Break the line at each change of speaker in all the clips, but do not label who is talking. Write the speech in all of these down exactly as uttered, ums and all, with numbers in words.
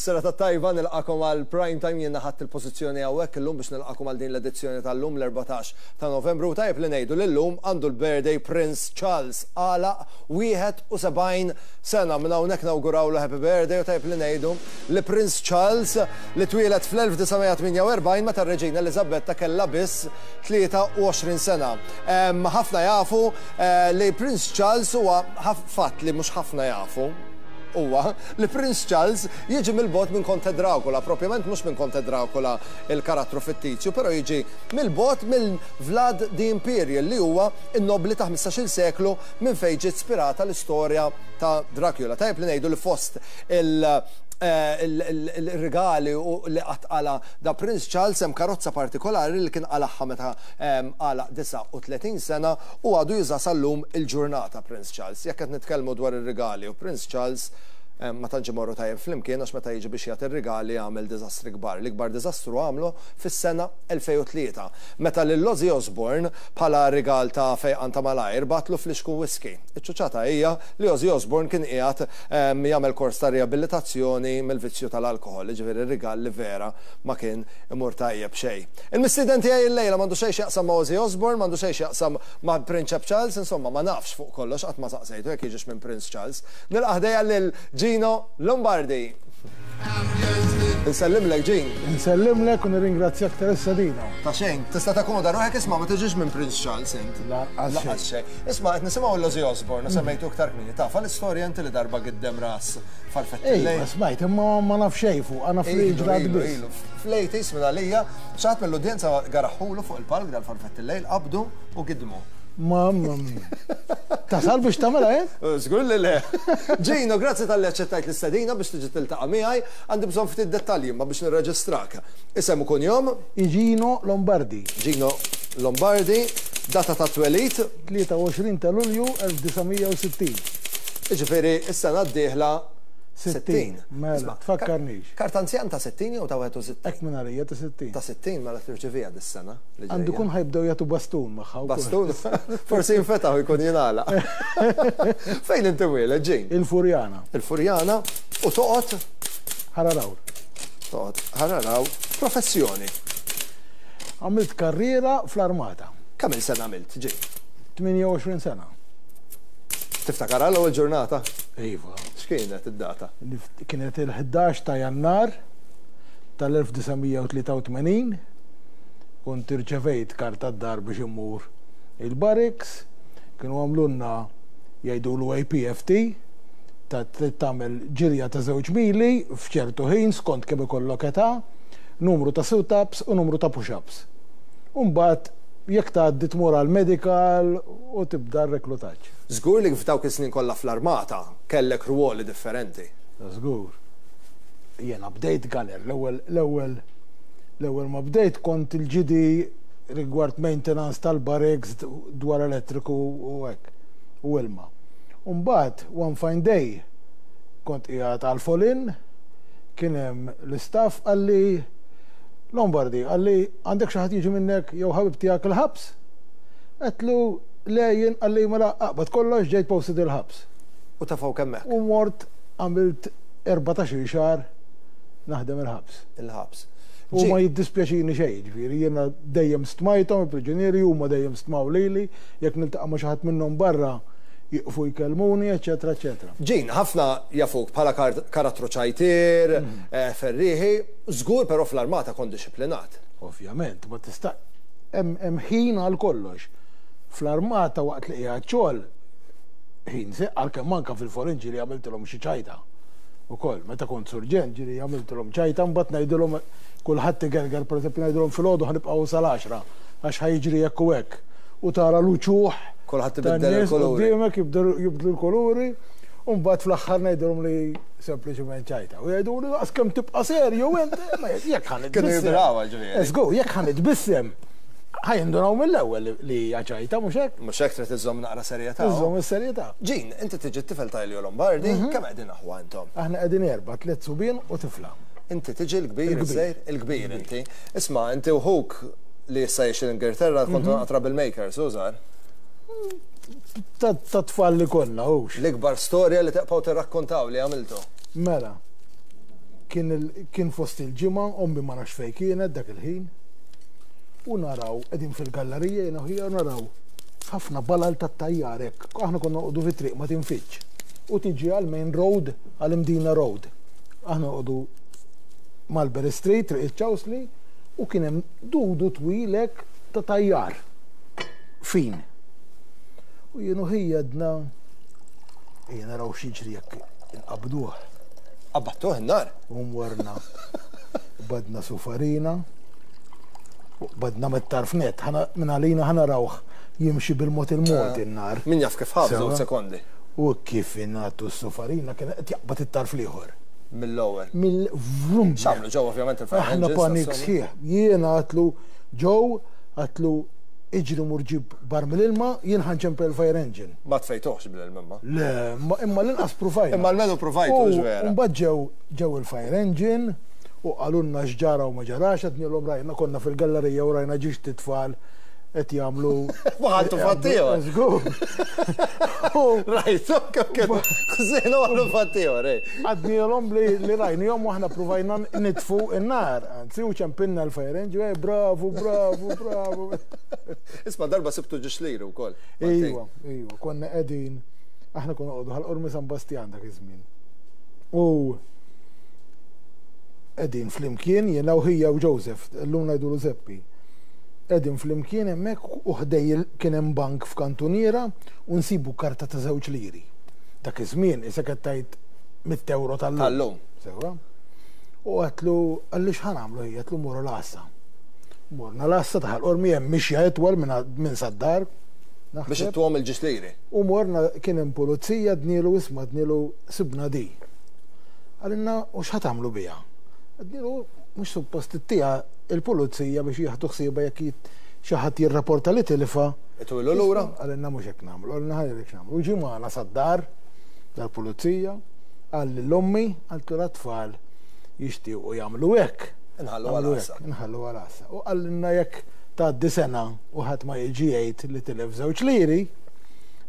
Is-serata tajba, nilqakom għal Prime Time. Jiena ħadt il-pożizzjoni hawnhekk illum biex nilqakom għal din l-edizzjoni tal-lum, l-erbatax ta' Novembru. Tajjeb li ngħidu li llum għandu l-birthday Prince Charles, għalaq wieħed u sebgħin sena. Minn hawnhekk nawgurawlu happy birthday u tajjeb li ngħidu li Prince Charles li twieled fl-elf disa' mija tmienja u erbgħin meta r-Reġina Elizabetta kellha biss tlieta u għoxrin sena. Ħafna jafu eh, li Prince Charles huwa, fatt li mhux ħafna jafu huwa li Prince Charles jiġi mill-bogħod minn Conte Dracula, propjament mhux minn Conte Dracula il-karattru fittizju, però jiġi mill-bogħod mill Vlad the Impaler, li huwa in-nobli ta' ħmistax-il seklu minn fejn ġiet ispirata l-istorja ta' Dracula. Tajjeb li ngħidu li fost il- eh, il-regali u li qala' da Prince Charles hemm karozza partikolari li kien qalagħha meta għalaq disgħa u tletin sena u għadu juża sal-lum il-ġurnata Prince Charles. Jekk qed nitkellmu dwar ir-regali u Prince Charles, ma tantx imorru tajjeb flimkien, għax meta jiġi biex jagħti ir-rigali għamel diżastri kbar. L-ikbar diżastru għamlu fis-sena elfejn u tlieta meta lil Ozzy Osbourne, bħala rigal ta' fejqan ta' malajr, bagħatlu flixkun whisky. Iċ-ċuċata hija li Ozzy Osbourne kien qiegħed jagħmel kors ta' riabilitazzjoni mill-vizzju tal-alkoħol, jiġifieri rigal li vera ma kien imur tajjeb xejn. Il-mistieden tiegħi illejla m'għandu xejn x'jaqsam ma' Ozzy Osbourne, m'għandu xejn x'jaqsam ma' Prinċep Charles, insomma, ma nafx fuq kollox, qatt ma saqsejtu jekk jiġix minn Prince Charles. Nilqa' ħdejja lil Gino Lombardi. Nsellimlek, Gin.
Nsellimlek u nirringrazzjak tal-istedina.
Ta' xejn, tista' takkomoda ruħek. Isma', ma tiġix minn Prince Charles int?
Lanqas.
Lanqas xejn. Isma', qed nisimgħu l-Ozzy Osbourne, semmejtu iktar kmieni. Taf l-istorja inti li darba giddem ras farfett
Ej,
il-lejl?
Smajt, imma ma naf xejn fuq, naf li ġrat biss.
Fl-eighties minn għalija, xi ħadd mill-udjenza garaħulu fuq il-palk dal-farfett il-lejl, qabdu u gidmu.
Mamma mia. Tasal biex tagħmilha, eh?
Żgur li le. Gino, grazzi talli aċċettajt l-istedina biex tiġi tiltaqa' miegħi. Għandi bżonn ftit dettalji ma biex nirreġistrak. Isem u kunjom?
Gino Lombardi.
Gino Lombardi, data ta' twelid?
tlieta u għoxrin ta' Lulju elf disa' mija u sittin.
Jiġifieri is-sena d-dieħla sittin.
Mela,
Isma',
tfakkarnix.
Karta anzjan ta' sittin jew ta' wieħed u sittin?
Hekk minn għalija ta' sittin.
Ta' sittin, mela tirċevija dis-sena li
Għandu
ġejja.
kun ħa jibdew jagħtu bastun magħha wkoll.
Bastun, forsi jinfetaħ u jkun jingħalaq. Fejn inti mwieled, Gin?
Il-Furjana.
Il-Furjana, u toqgħod?
Ħal Għargħur.
Toqgħod Ħal Għargħur. Professjoni?
Għamilt karriera fl-armata.
Kemm il sena għamilt, Gin?
tmienja u għoxrin sena.
Tiftakar l-ewwel ġurnata?
Iva.
X'kienet id-data?
Nif- Kienet il-ħdax ta' Jannar tal-elf disa' mija u tlieta u tmenin. Kont irċevejt karta d-dar biex immur il-barracks. Kienu għamlulna, jgħidulu, A P F T, ta' trid tagħmel ġirja ta' żewġ mili f'ċertu ħin skont kemm ikollok età, numru ta' sit-ups u numru ta' push-ups. U mbagħad jekk tgħaddi tmur għal medical u tibda r-reklutaġġ.
Żgur li f'dawk is-snin kollha fl-armata kellek ruoli differenti.
Żgur. Jena bdejt gunner, l-ewwel l-ewwel l-ewwel ma bdejt kont il-G D rigward maintenance tal-barracks, dwar elettriku u hekk u ilma. Umbagħad one fine day kont qiegħed għal fall-in, kien hemm l-istaff, qalli, "Lombardi," qalli, "għandek xi ħadd jiġi minnek jew ħabib tiegħek il-ħabs?" Għedtlu, "Le jien." Qalli, "Mela aqbad kollox, ġejt posted il-ħabs."
U tafgħu hemmhekk.
U mort għamilt erbatax-il xahar naħdem il-ħabs.
Il-ħabs.
U ma jiddispjaċini xejn, ġifieri jiena dejjem stmajthom il-priġunieri, huma dejjem stmaw lili, jekk niltaqa' ma' xi ħadd minnhom barra jiqfu jkellmuni, eċetera, eċetera.
Gin, ħafna jafuk bħala kar- karattru ċajtir, eh, ferriħi, żgur però fl-armata kont dixxiplinat.
Ovvjament, ma tista' hemm hemm ħin għal kollox. Fl-armata waqt li qiegħed xogħol ħin se għalkemm anke fil-fall-in ġieli għamiltilhom xi ċajta. Ukoll, meta kont surġent ġieli għamiltilhom ċajta, mbagħad ngħidilhom, kulħadd igerger, pereżempju ngħidilhom filgħodu ħa nibqgħu sal-għaxra għax ħa jiġri hekk u hekk. U tara l-uċuħ
Kulħadd ibiddel
tan-nies
il-kuluri.
Quddiemek jibdlu jibdlu l-kuluri, u mbagħad fl-aħħar ngħidilhom li sempliċement ċajta. U jgħidu li daqs kemm tibqa' serju int, ma jekk ħa
Kienu
nitbissem.
jibrawha ġifieri.
Żgur, jekk ħa nitbissem, ħa jindunaw mill-ewwel li hija ċajta, mhux hekk?
Mhux hekk, trid iżżomm naqra serjetà.
Iżżomm is-serjetà.
Gin, inti tiġi t-tifel ta' Elio Lombardi, kemm qegħdin aħwa intom?
Aħna qegħdin erba', tliet subien u tifla.
Inti tiġi l-kbir,
Il-kbir.
iż-żgħir, il-kbir inti. Isma', inti u ħuk Li issa jgħix l-Ingilterra, kontu naqra troublemakers, użar.
Ta' tfal li konna, hux.
L-ikbar storja li tibqgħu tirrakkontaw li għamiltu.
Mela, kien fost il-ġimgħa, ommi ma nafx fejn kienet dak il-ħin, u naraw, qegħdin fil-gallerija jiena u naraw ħafna balal tat-tajjar hekk. Aħna konna noqogħdu fit-triq ma tinfitx. U tiġi għal Main Road, għal Imdina Road. Aħna noqogħdu Mulberry Street, Triq iċ-Ċawsli, u kien hemm dudu twil hekk ta' tajjar. Fin. U jien u ħija għedna, ejja naraw x'jiġri jekk inqabduh.
Qabadtuh in-nar?
U morna. Badna sufarina. Badna mit-tarf net, minn għalina ħa narawh jimxi bil-mod il-mod in-nar.
Min jaf kif ħafżu sekondi.
U kif ingħatu s-sufarina kien qed jaqbad it-tarf l-ieħor.
Mill-ewwel.
Mill-vrum.
X'għamlu ġew ovvjament il-fire
Aħna panik sħiħ. Jiena għedtlu ġew għedtlu iġri mur ġib barmil ilma, jien ħa nċempel il-fire engine.
Ma tfejtuħx bil-ilma imma.
Le, imma l-inqas provajna.
Imma almenu provajtu, vera.
Mbagħad ġew ġew il-fire engine u qalulna x'ġara u ma ġarax, għednielhom rajna konna fil-gallerija u rajna ġiex tfal qed jagħmlu.
Waħaltu fattijor.
Żgur.
Rajtu kemm kienu ħżienu għamlu fattijor, ej.
Għednielhom li rajnihom u aħna provajna nitfu n-nar. Anzi, u ċempilna l-fire engine, bravo, bravo, bravo.
Isma' darba sibtu ġiex liri wkoll.
Ejwa, ejwa, konna qegħdin, aħna konna noqogħdu Ħal Qormi San Bastjan dak iż-żmien. U qegħdin flimkien jiena u ħija u Joseph, llum ngħidulu Zeppi. Qegħdin flimkien hemmhekk u ħdej kien hemm bank f'kantuniera u nsibu karta ta' żewġ liri. Dak iż-żmien issa qed tgħid mitt euro tal-lum.
Tal-lum.
Sewwa. U għedtlu qalli x'ħa nagħmlu ħija, għedtlu morru l-għassa. Morna l-għassa ta' Ħal Qormi hemm mixja itwal minn sad-dar.
Biex ittuhom il-ġiex liri.
U morna kien hemm pulizija għednielu isma' għednielu sibna di. Qalilna u x'ħa tagħmlu biha? Għednielu mhux suppost ittieha il-pulizija biex jieħdu ħsiebha jekk xi ħadd jirrapporta li tilfa.
Itwilu lura?
Qalilna mhux hekk nagħmlu, qalilna ħajrek nagħmlu. U ġie magħna sad-dar dal-pulizija, qal lil ommi, qaltlu l-tfal jixtiequ jagħmlu hekk.
Inħallu għal-għassa.
Inħallu għal-għassa. U qalilna jekk tgħaddi sena u ħadd ma jiġi jgħid li tilef żewġ liri,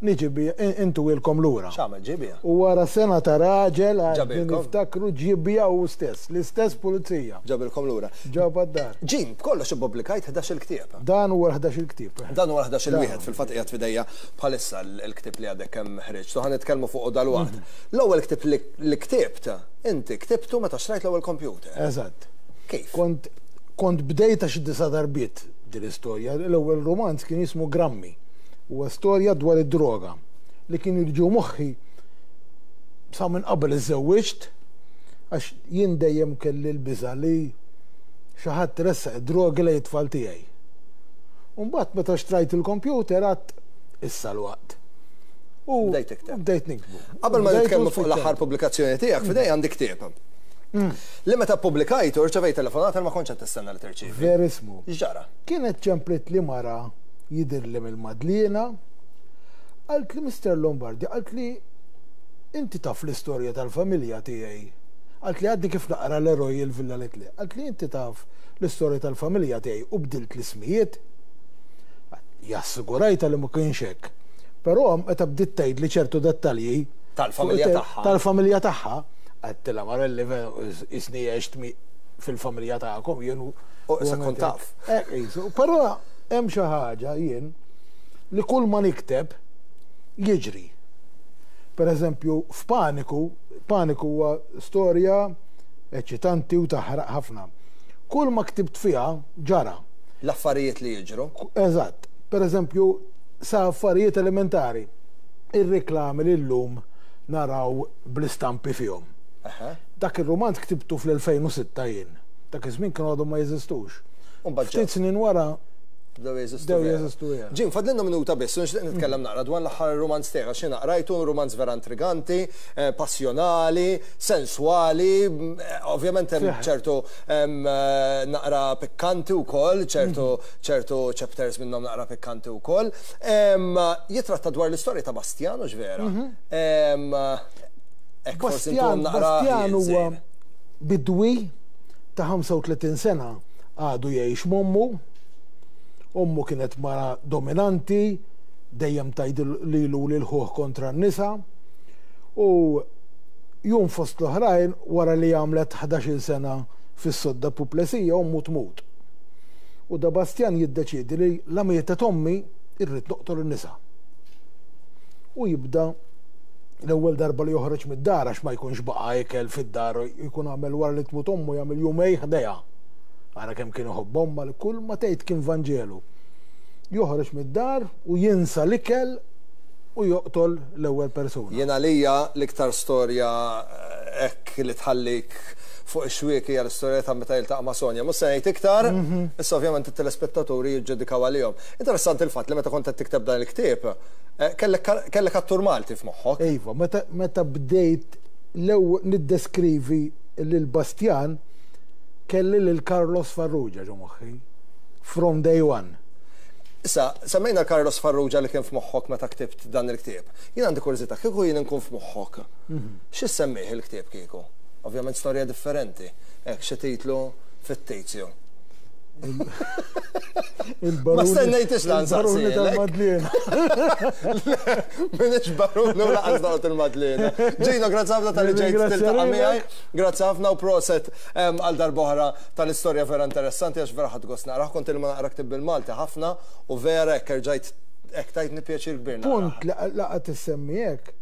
niġi bija intuhielkom lura.
X'għamel ġie biha?
U wara sena ta' raġel
Ġabilkom?
niftakru ġie biha u stess, l-istess pulizija.
Ġabilkom lura.
Ġabha d-dar.
Ġim, b'kollox ippubblikajt ħdax-il ktieb.
Dan huwa ħdax-il ktieb.
Dan huwa ħdax-il wieħed, fil-fatt qiegħed f'idejja bħalissa l-ktieb li għadek kemm ħriġt. So ħa nitkellmu fuq dal-waqt. L-ewwel ktieb li ktibt, inti ktibtu meta xtrajt l-ewwel computer.
Eżatt.
Kif?
Kont kont bdejta xi disa' darbiet din l-istorja. L-ewwel romanz kien jismu Grammi. Huwa storja dwar id-droga li kien jirġu moħħi sa minn qabel iżżewwiġt, għax jien dejjem kelli l-biża' li xi ħadd ressaq id-drogi lejn it-tfal tiegħi. U mbagħad meta xtrajt il-computer għedt issa l-waqt. U
Bdejt tikteb.
bdejt niktbu.
Qabel ma
Bdejt u
nitkellmu fuq
spiċċajt.
l-aħħar pubblikazzjoni tiegħek, f'idej għandi ktieb. Li meta ppubblikajtu rċevejt telefonata li ma kontx qed tistenna li tirċievi.
Verismu.
X'ġara?
Kienet ċemplit li mara jidir li mill-Madliena, qalt li Mister Lombardi, qalt li inti taf l-istorja tal-familja tiegħi. Qalt li għadni kif naqra l-eroj il-Villa Litli. Qalt li inti taf l-istorja tal-familja tiegħi u bdilt l-ismijiet. Jassigurajta li ma kienx hekk. Però meta bdiet tgħid li ċertu dettalji
Tal-familja
fuq
tagħha.
Tal-familja tagħha, għedtilha Marelli isni għext fil-familja tagħkom jien u
U issa kont taf.
Eh, isu, però hemm xi ħaġa jien li kull ma nikteb jiġri. Per eżempju, f'Paniku, Paniku huwa storja eċitanti u taħraq ħafna. Kull ma ktibt fiha ġara.
L-affarijiet li jiġru.
Eżatt. Per eżempju, sa affarijiet elementari. Ir-reklami li llum naraw bl-istampi fihom.
Aha.
Dak ir-romanz ktibtu fl-elfejn u sitta jien. Dak iż-żmien kienu għadhom ma jeżistux.
U mbagħad
Ftit snin wara
Bdew jeżistu.
Bdew
vera.
jeżistu vera.
Ġim, fadlilna minuta biss, u nixtieq nitkellem naqra dwar l-aħħar romanz tiegħek, għax jiena qrajtu romanz vera intriganti, eh, passjonali, sensuali, mm, eh, ovvjament hemm
Fiħ.
ċertu, em, eh, naqra pikkanti wkoll, ċertu, ċertu chapters minnhom naqra pikkanti wkoll. Em, jitratta dwar l-istorja ta' Bastiano x'vera. Em, hekk forsi
Bastian,
intuhom naqra
Bastian huwa
żejr.
bidwi ta' ħamsa u tletin sena għadu jgħix m'ommu. Ommu kienet mara dominanti, dejjem tgħid lilu lil ħuh kontra n-nisa. U jum fost l-oħrajn, wara li għamlet ħdax-il sena fis-sodda puplesija, ommu tmut. U da Bastjan jiddeċiedi li la mietet ommi, irrid noqtol in-nisa. U jibda l-ewwel darba li joħroġ mid-dar, għax ma jkunx baqa' ikel fid-dar, jkun għamel wara li tmut ommu jagħmel jumej ħdejha. Ara kemm kien iħobb omma li kull ma tgħid kien Vanġelu. Joħroġ mid-dar u jinsa l-ikel u joqtol l-ewwel persuna.
Jien għalija l-iktar storja hekk li tħallik fuq ix-xwiek hija l-istorja ta' meta jiltaqa' ma' Sonja. Mhux se ngħid iktar, issa ovvjament it-telespettaturi jiġġudikaw għalihom. Interessanti il-fatt li meta kont qed tikteb dan il-ktieb, kellek attur Malti f'moħħok.
Iva, meta bdejt l-ewwel niddeskrivi lil Bastjan, kelli lil Carlos Farrugia ġo moħħi, from day one.
Issa, semmejna Carlos Farrugia li kien f'moħħok meta ktibt dan il-ktieb. Jien għandi kurżità, kieku jien nkun f'moħħok, xi semmih il-ktieb kieku? Ovvjament storja differenti. Hekk xi titlu fittizju. Ma stennejtix lan
Il-baruni tal-Madliena.
Minix baruni u lanqas noqgħod il-Madliena. Ġino, grazzi ħafna talli ġejt tiltaqa' miegħi. Grazzi ħafna u proset għal darb'oħra tal-istorja vera interessanti, għax vera ħadt gost naqrah. Kont ilma naqra ktib bil-Malti ħafna u vera hekk erġajt hekk tajtni pjaċir kbir.
Punt li laqgħet issemmi hekk,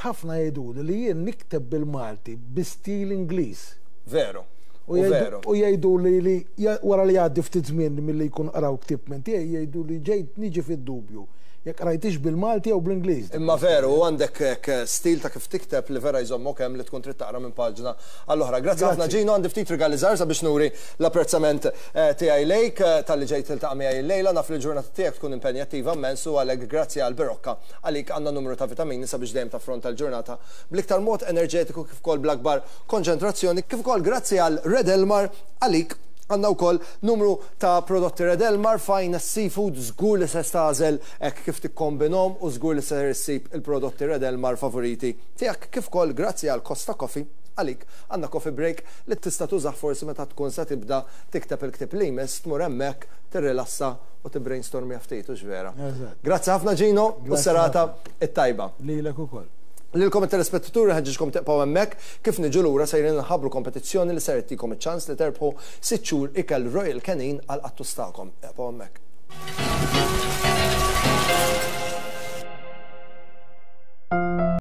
ħafna jgħiduli li jien nikteb bil-Malti bi stil Ingliż.
Veru.
U jgħidu li li wara li jgħaddi ftit żmien milli jkun qraw ktieb minn tiegħi, jgħidu li ġejt niġi fid-dubju jekk qrajtix bil-Malti jew bl-Ingliż.
Imma veru, għandek stil ta' kif tikteb li vera jżommok hemm li tkun trid taqra minn paġna għall-oħra. Grazzi ħafna Ġino, għandi ftit rigali żgħar sabiex nuri l-apprezzament tiegħi lejk talli ġejt tiltaqa' miegħi llejla. Naf li l-ġurnata tiegħek tkun impenjattiva immens u għalhekk grazzi għal Berocca għalik għandna numru ta' vitamini sabiex dejjem taffronta l-ġurnata bl-iktar mod enerġetiku kif ukoll bl-akbar konċentrazzjoni, kif ukoll grazzi għal Red Elmar għalik għandna wkoll numru ta' prodotti Red Elmar, Finest Seafood, żgur li se tagħżel hekk kif tikkombinhom u żgur li se issib il-prodotti Red Elmar favoriti tiegħek, kif ukoll grazzi għal Costa Coffee għalik għandna coffee break li tista' tużah forsi meta tkun se tibda tikteb il-ktieb li jmiss, tmur hemmhekk tirrilassa u tibbrainstormja ftit, hux vera. Grazzi ħafna Ġino u serata it-tajba.
Lilek ukoll.
Lilkom it-telespettaturi ħeġġiġkom tibqgħu hemmhekk, kif niġu lura sejrin nħabbru kompetizzjoni li ser ittikom iċ-ċans li terbħu sitt xhur ikel Royal Canin għal qattus tagħkom. Ibqgħu hemmhekk.